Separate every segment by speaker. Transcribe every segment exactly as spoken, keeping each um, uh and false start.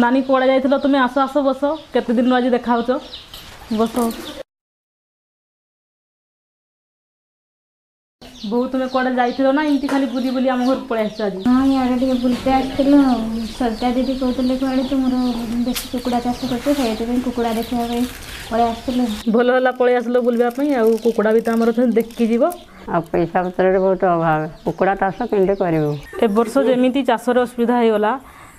Speaker 1: ନାନୀ କୁଆଡ଼େ ଯାଇଥିଲ ତୁମେ? ଆସ ଆସ, ବସ। କେତେ ଦିନରୁ ଆଜି ଦେଖା ହଉଛ, ବସ। ବୋଉ, ତୁମେ କୁଆଡ଼େ ଯାଇଥିଲ ନା ଏମିତି ଖାଲି ବୁଲି ବୁଲି ଆମ ଘରକୁ ପଳେଇ ଆସିଛ ଆଜି?
Speaker 2: ହଁ, ଇଆଡ଼େ ଟିକେ ବୁଲିତେ ଆସିଥିଲୁ। ସରିତା ଦିଦି କହୁଥିଲେ କୁଆଡ଼େ ତୁମର ବେଶୀ କୁକୁଡ଼ା ଚାଷ କରୁଛ, ସେଇଥିପାଇଁ କୁକୁଡ଼ା ଦେଖିବା ପାଇଁ ପଳେଇ ଆସିଥିଲୁ।
Speaker 1: ଭଲ ହେଲା ପଳେଇ ଆସିଲ ବୁଲିବା ପାଇଁ, ଆଉ କୁକୁଡ଼ା ବି ତ ଆମର ଅଛନ୍ତି, ଦେଖିକି ଯିବ।
Speaker 3: ଆଉ ପଇସା ପତ୍ରରେ ବହୁତ ଅଭାବ, କୁକୁଡ଼ା ଚାଷ କେମିତି କରିବୁ?
Speaker 1: ଏ ବର୍ଷ ଯେମିତି ଚାଷରେ ଅସୁବିଧା ହେଇଗଲା,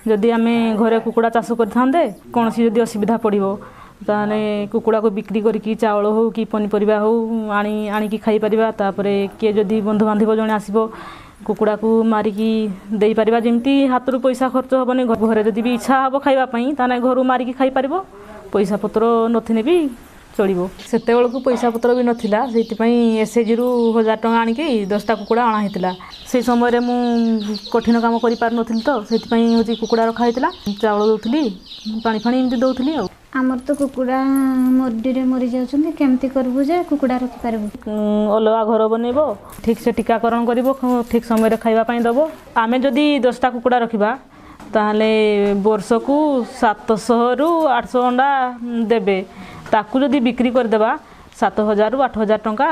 Speaker 1: ଯଦି ଆମେ ଘରେ କୁକୁଡ଼ା ଚାଷ କରିଥାନ୍ତେ, କୌଣସି ଯଦି ଅସୁବିଧା ପଡ଼ିବ ତାହେଲେ କୁକୁଡ଼ାକୁ ବିକ୍ରି କରିକି ଚାଉଳ ହଉ କି ପନିପରିବା ହଉ ଆଣି ଆଣିକି ଖାଇପାରିବା। ତାପରେ କିଏ ଯଦି ବନ୍ଧୁବାନ୍ଧବ ଜଣେ ଆସିବ, କୁକୁଡ଼ାକୁ ମାରିକି ଦେଇପାରିବା। ଯେମିତି ହାତରୁ ପଇସା ଖର୍ଚ୍ଚ ହେବନି। ଘରେ ଯଦି ବି ଇଚ୍ଛା ହେବ ଖାଇବା ପାଇଁ, ତାହେଲେ ଘରୁ ମାରିକି ଖାଇପାରିବ। ପଇସା ପତ୍ର ନଥିଲେ ବି ଚଳିବ। ସେତେବେଳକୁ ପଇସା ପତ୍ର ବି ନଥିଲା, ସେଇଥିପାଇଁ ଏସ୍ଏଚ୍ଜିରୁ ହଜାର ଟଙ୍କା ଆଣିକି ଦଶଟା କୁକୁଡ଼ା ଅଣା ହେଇଥିଲା। ସେଇ ସମୟରେ ମୁଁ କଠିନ କାମ କରିପାରୁନଥିଲି ତ, ସେଇଥିପାଇଁ ହେଉଛି କୁକୁଡ଼ା ରଖା ହେଇଥିଲା। ଚାଉଳ ଦେଉଥିଲି, ପାଣି ଫାଣି ଏମିତି ଦେଉଥିଲି। ଆଉ
Speaker 2: ଆମର ତ କୁକୁଡ଼ା ମରୁଡ଼ିରେ ମରିଯାଉଛନ୍ତି, କେମିତି କରିବୁ ଯେ କୁକୁଡ଼ା ରଖିପାରିବୁ?
Speaker 1: ଅଲଗା ଘର ବନେଇବ, ଠିକ୍ ସେ ଟୀକାକରଣ କରିବ, ଠିକ୍ ସମୟରେ ଖାଇବା ପାଇଁ ଦେବ। ଆମେ ଯଦି ଦଶଟା କୁକୁଡ଼ା ରଖିବା, ତାହେଲେ ବର୍ଷକୁ ସାତଶହରୁ ଆଠଶହ ଅଣ୍ଡା ଦେବେ। ତାକୁ ଯଦି ବିକ୍ରି କରିଦେବା, ସାତ ହଜାରରୁ ଆଠ ହଜାର ଟଙ୍କା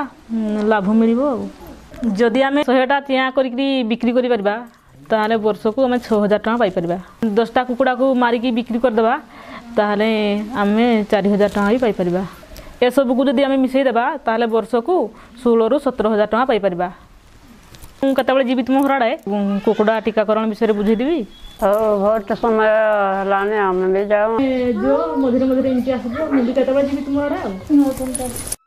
Speaker 1: ଲାଭ ମିଳିବ। ଆଉ ଯଦି ଆମେ ଶହେଟା ଚିଆଁ କରିକିରି ବିକ୍ରି କରିପାରିବା, ତାହେଲେ ବର୍ଷକୁ ଆମେ ଛଅ ହଜାର ଟଙ୍କା ପାଇପାରିବା। ଦଶଟା କୁକୁଡ଼ାକୁ ମାରିକି ବିକ୍ରି କରିଦେବା, ତାହେଲେ ଆମେ ଚାରି ହଜାର ଟଙ୍କା ବି ପାଇପାରିବା। ଏସବୁକୁ ଯଦି ଆମେ ମିଶାଇ ଦେବା, ତାହେଲେ ବର୍ଷକୁ ଷୋହଳରୁ ସତର ହଜାର ଟଙ୍କା ପାଇପାରିବା। ମୁଁ କେତେବେଳେ ଯିବି ତୁମ ଘର ଆଡ଼େ, କୁକୁଡ଼ା ଟୀକାକରଣ ବିଷୟରେ ବୁଝେଇଦେବି।
Speaker 3: ହଉ, ବହୁତ ସମୟ ହେଲାଣି, ଆମେ ବି ଯାଉ।
Speaker 1: ଯୋଉ ମଝିରେ ମଝିରେ ଏମିତି ଆସିବ, ମୁଁ ବି କେତେବେଳେ ଯିବି ତୁମ ଆଡ଼େ। ଆଉ